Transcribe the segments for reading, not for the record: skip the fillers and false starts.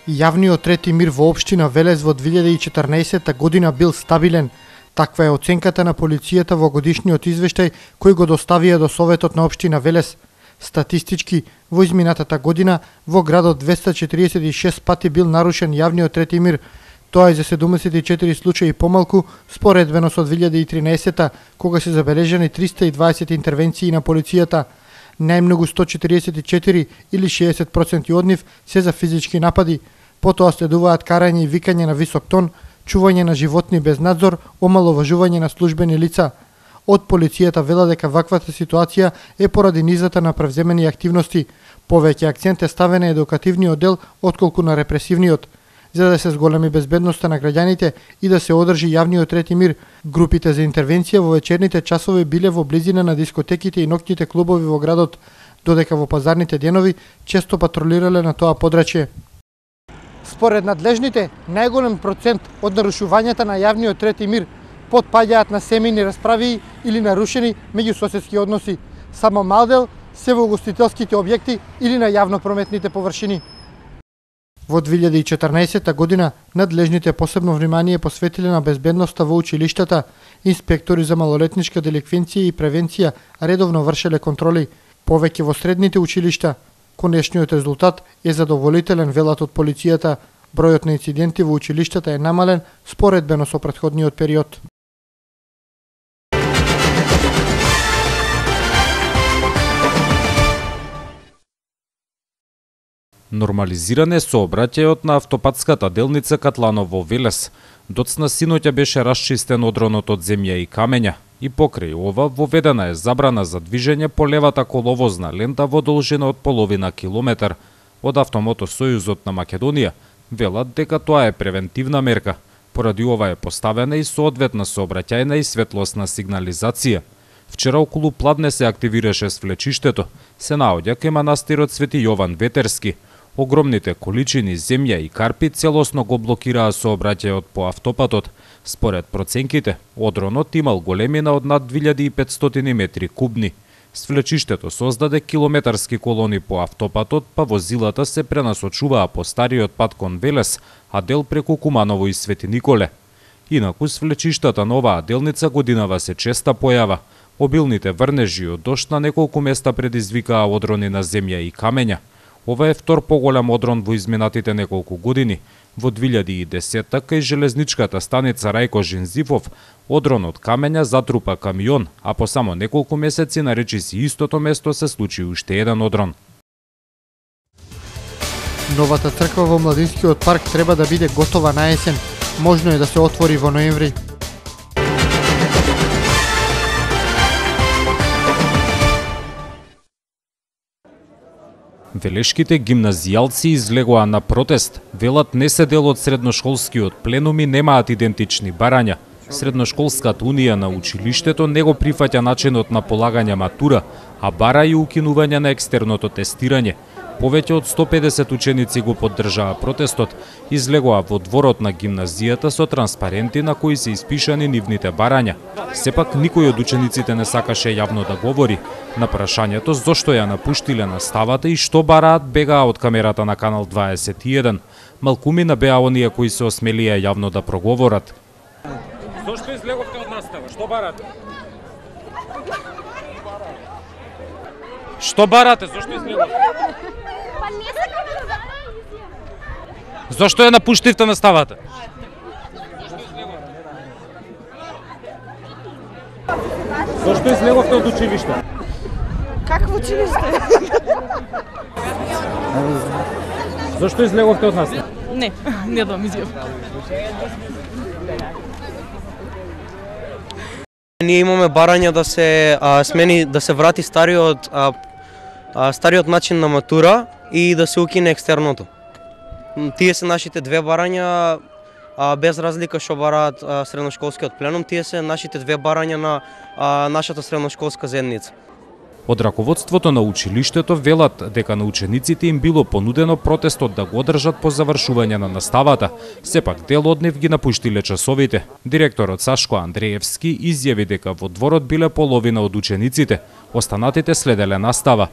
Јавниот трети мир во општина Велес во 2014 година бил стабилен. Таква е оценката на полицијата во годишниот извештај кој го доставија до Советот на општина Велес. Статистички, во изминатата година во градот 246 пати бил нарушен јавниот трети мир. Тоа е за 74 случаи помалку, споредбено со 2013 кога се забележани 320 интервенции на полицијата. Најмногу 144 или 60% од нив се за физички напади. Потоа следуваат карање и викање на висок тон, чување на животни без надзор, омаловажување на службени лица. Од полицијата вела дека ваквата ситуација е поради низата на превземени активности. Повеќе акцент е ставен на едукативниот дел отколку на репресивниот. За да се зголеми безбедноста на граѓаните и да се одржи јавниот трети мир, групите за интервенција во вечерните часови биле во близина на дискотеките и ноќните клубови во градот, додека во пазарните денови често патролирале на тоа подрачје. Според надлежните, најголем процент од нарушувањата на јавниот трети мир потпаѓаат на семејни расправи или нарушени меѓусоседски односи. Само мал дел се во угостителските објекти или на јавно-прометните површини. Во 2014 година надлежните посебно внимание посветиле на безбедноста во училиштата. Инспектори за малолетничка деликвенција и превенција редовно вршеле контроли, повеќе во средните училишта. Конечниот резултат е задоволителен, велат од полицијата. Бројот на инциденти во училиштата е намален споредбено со претходниот период. Нормализиране сообраќајот на автопатската делница Катланово Велес. Доцна синоќа беше расчистен одронот од земја и камења и покрај ова воведена е забрана за движење по левата коловозна лента во должина од половина километар. Од Автомотосојузот на Македонија велат дека тоа е превентивна мерка. Поради ова е поставена и соодветна сообраќајна и светлосна сигнализација. Вчера околу пладне се активираше свлечиштето. Се наоѓа кај манастирот Свети Јован Ветерски. Огромните количини земја и карпи целосно го блокираа сообраќајот по автопатот. Според проценките, одронот имал големина од над 2500 метри кубни. Свлечиштето создаде километарски колони по автопатот, па возилата се пренасочуваа по стариот пат кон Велес, а дел преку Куманово и Свети Николе. Инаку свлечиштата на оваа делница годинава се честа појава. Обилните врнежи од дожд на неколку места предизвикаа одрони на земја и камења. Ова е втор поголем одрон во изминатите неколку години. Во 2010 кај железничката станица Рајко Жензивов, одрон од камења затрупа камион, а по само неколку месеци на речиси истото место се случи уште еден одрон. Новата црква во Младинскиот парк треба да биде готова на есен. Можно е да се отвори во ноември. Велешките гимназијалци излегоа на протест. Велат не се дел од средношколскиот пленум и немаат идентични барања. Средношколската унија на училиштето не го прифаќа начинот на полагање матура, а бара и укинување на екстерното тестирање. Повеќе од 150 ученици го поддржаа протестот, излегоа во дворот на гимназијата со транспаренти на кои се испишани нивните барања. Сепак никој од учениците не сакаше јавно да говори. На прашањето зошто ја напуштиле наставата и што бараат, бегаа од камерата на Канал 21. Малкумина беа оние кои се осмелија јавно да проговорат. Зошто излеговте од настава? Што барате? Што барате? Зошто излеговте? Зошто ја напуштивте наставата? Зошто излеговте од училиште? Какво училиште? Зошто излеговте од настава? Не дам изјав. Ние имаме барања да се смени, да се врати стариот начин на матура и да се укине екстерното. Тие се нашите две барања, без разлика што бараат средношколскиот пленум, тие се нашите две барања на нашата средношколска заедница. Од раководството на училиштето велат дека на учениците им било понудено протестот да го одржат по завршување на наставата. Сепак дел од нив ги напуштиле часовите. Директорот Сашко Андреевски изјави дека во дворот биле половина од учениците, останатите следеле настава.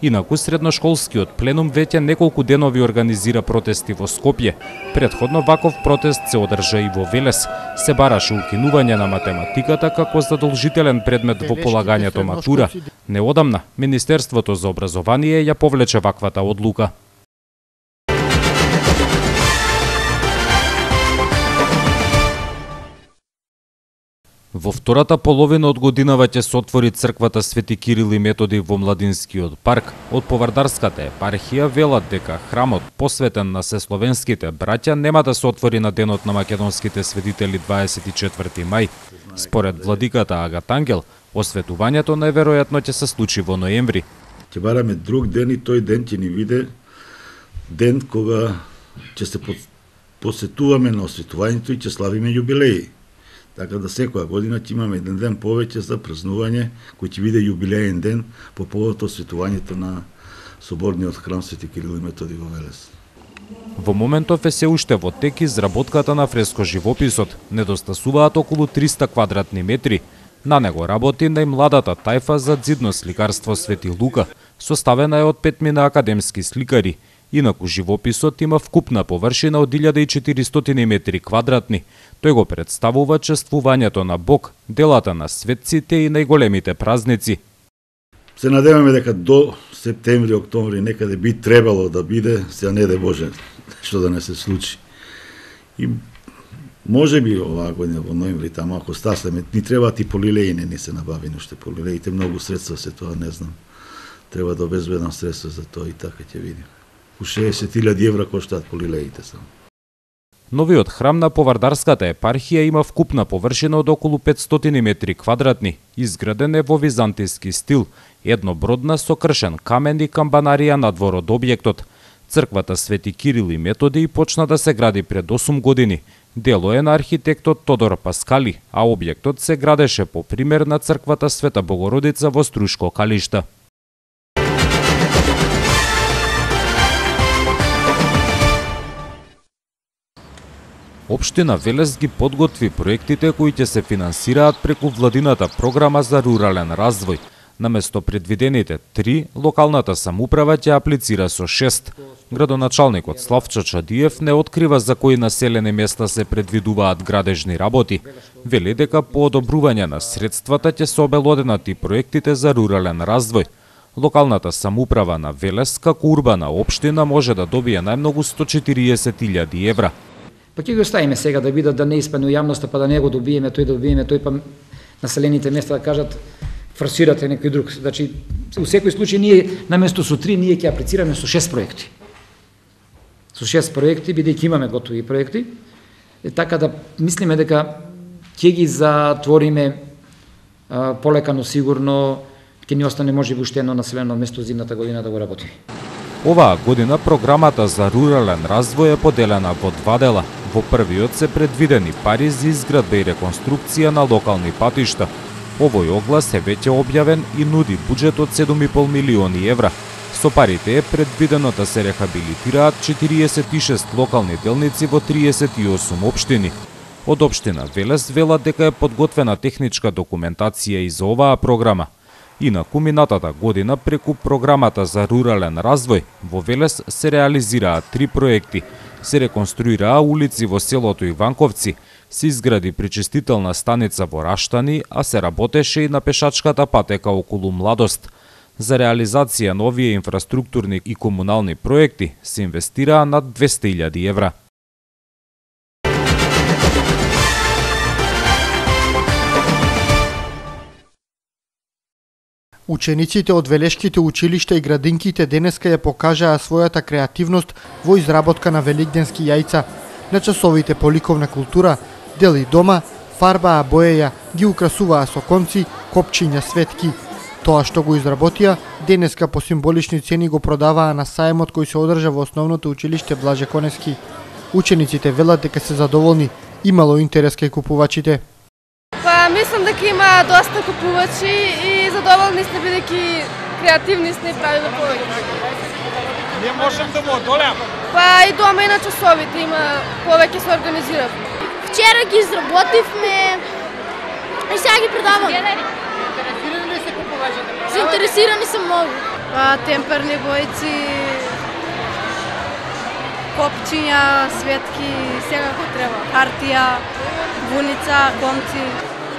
Инаку средношколскиот пленум веќе неколку денови организира протести во Скопје. Претходно ваков протест се одржа и во Велес. Се бараше укинување на математиката како задолжителен предмет во полагањето матура. Неодамна Министерството за образование ја повлече ваквата одлука. Во втората половина од годинава ќе се отвори црквата Свети Кирил и Методи во Младинскиот парк. Од Повардарската епархија велат дека храмот посветен на сесловенските браќа нема да се отвори на денот на македонските светители 24 мај. Според владиката Агат Ангел, осветувањето најверојатно ќе се случи во ноември. Ќе бараме друг ден и тој ден ќе ни биде ден кога ќе се посетуваме на осветувањето и ќе славиме јубилеи. Така да секоја година ќе имаме еден ден повеќе за празнување, кој ќе биде јубилеен ден по повод осветувањето на соборниот храм Свети Кирил и Методи во Велес. Во моментов е се уште во тек изработката на фреско-живописот. Недостасуваат околу 300 квадратни метри. На него работи најмладата тајфа за ѕидно сликарство Свети Лука, составена е од 5 академски сликари. Инаку живописот има вкупна површина од 1400 метри квадратни. Тој го представува чествувањето на Бог, делата на светците и најголемите празници. Се надеваме дека до септември, октомври некаде би требало да биде, сега не де Боже, што да не се случи. И може би оваа година во ноември, таму ако стаслеме, ни требаат и полилеи, не ни се набавени уште полилеите, многу средства се тоа, не знам. Треба да обезбедам средства за тоа и така ќе видим. У 60.000 евра коштаат полилеите само. Новиот храм на Повардарската епархија има вкупна површина од околу 500 метри квадратни. Изграден е во византијски стил, еднобродна со кршен камен и камбанарија надвор од објектот. Црквата Свети Кирил и Методи почна да се гради пред 8 години. Дело е на архитектот Тодор Паскали, а објектот се градеше по пример на црквата Света Богородица во Струшко Калишта. Општина Велес ги подготви проектите кои ќе се финансираат преку владината програма за рурален развој. Наместо предвидените 3, локалната самоуправа ќе аплицира со 6. Градоначалникот Славчо Чадиев не открива за кои населени места се предвидуваат градежни работи. Вели дека по одобрување на средствата ќе се обелоденат и проектите за рурален развој. Локалната самоуправа на Велес како урбана општина може да добие најмногу 140.000 евра. Па ќе го оставиме сега да видат да не испадне у јавноста, па да не го добиеме тој, па населените места да кажат форсирате некој друг. Значи, у секој случај ние наместо со 3 ние ќе аплицираме со 6 проекти. Со 6 проекти, бидејќи имаме готови проекти, така да мислиме дека ќе ги затвориме полека, но сигурно ќе ни остане можеби уште едно населено место зимната година да го работи. Оваа година програмата за рурален развој е поделена во 2 дела. Во првиот се предвидени пари за изградба и реконструкција на локални патишта. Овој оглас е веќе објавен и нуди буџет од 7,5 милиони евра. Со парите е предвидено да се рехабилитираат 46 локални делници во 38 општини. Од општина Велес велат дека е подготвена техничка документација и за оваа програма. Инаку минатата година преку програмата за рурален развој во Велес се реализираа 3 проекти. Се реконструираа улици во селото Иванковци, се изгради пречистителна станица во Раштани, а се работеше и на пешачката патека околу Младост. За реализација на овие инфраструктурни и комунални проекти се инвестираа над 200.000 евра. Учениците од велешките училишта и градинките денеска ја покажаа својата креативност во изработка на великденски јајца. На часовите по ликовна култура, дели дома, фарбаа боеја, ги украсуваа со конци, копчиња, светки. Тоа што го изработија, денеска по символични цени го продаваа на сајмот кој се одржа во основното училиште Блаже Коневски. Учениците велат дека се задоволни, имало интерес кај купувачите. Мислам дека има доста купувачи и задоволни сме бидејќи креативни сме и правиме повеќе. Не можем да му одолеаме. Па и дома и на часовите има повеќе се организирав. Вчера ги изработивме и сега ги продаваме. Заинтересирани ли се купувачите? Заинтересирани се многу. темперни бојци, копчиња, светки, сега кој треба. Хартија, вуница, конци.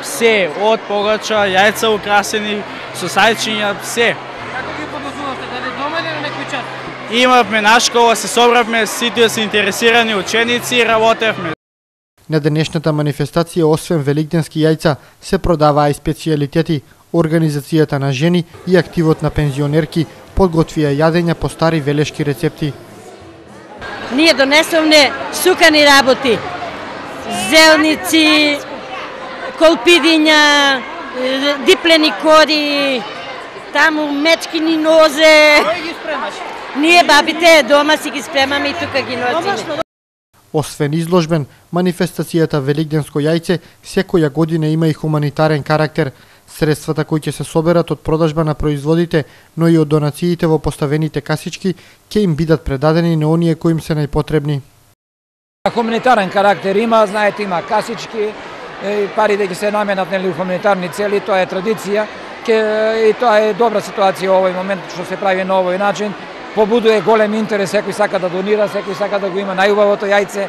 Се, од погача, јајца украсени, со сајчиња, се. Како ги подозувавте, дали дома или на некој час? Имавме на школа, се собравме, сите се интересирани ученици и работевме. На денешната манифестација, освен великденски јајца, се продаваа и специјалитети. Организацијата на жени и активот на пензионерки подготвија јадења по стари велешки рецепти. Ние донесовме сукани работи, зелници, колпидиња, диплени кори, таму мечкини нозе. Кој ги спремаш? Ние бабите дома си ги спремаме и тука ги носиме. Освен изложбен, манифестацијата Великденско јајце секоја година има и хуманитарен карактер. Средствата кои ќе се соберат од продажба на производите, но и од донациите во поставените касички, ќе им бидат предадени на оние кои им се најпотребни. Хуманитарен карактер има, знаете, има касички, парите ќе се наменат нели у хуманитарни цели, тоа е традиција, и тоа е добра ситуација во овој момент што се прави на овој начин. Побудува голем интерес, секој сака да донира, секој сака да го има најубавото јајце.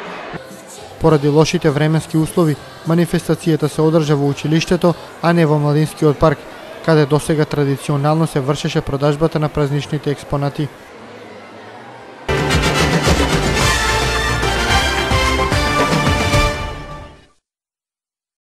Поради лошите временски услови, манифестацијата се одржа во училиштето, а не во младинскиот парк, каде досега традиционално се вршеше продажбата на празничните експонати.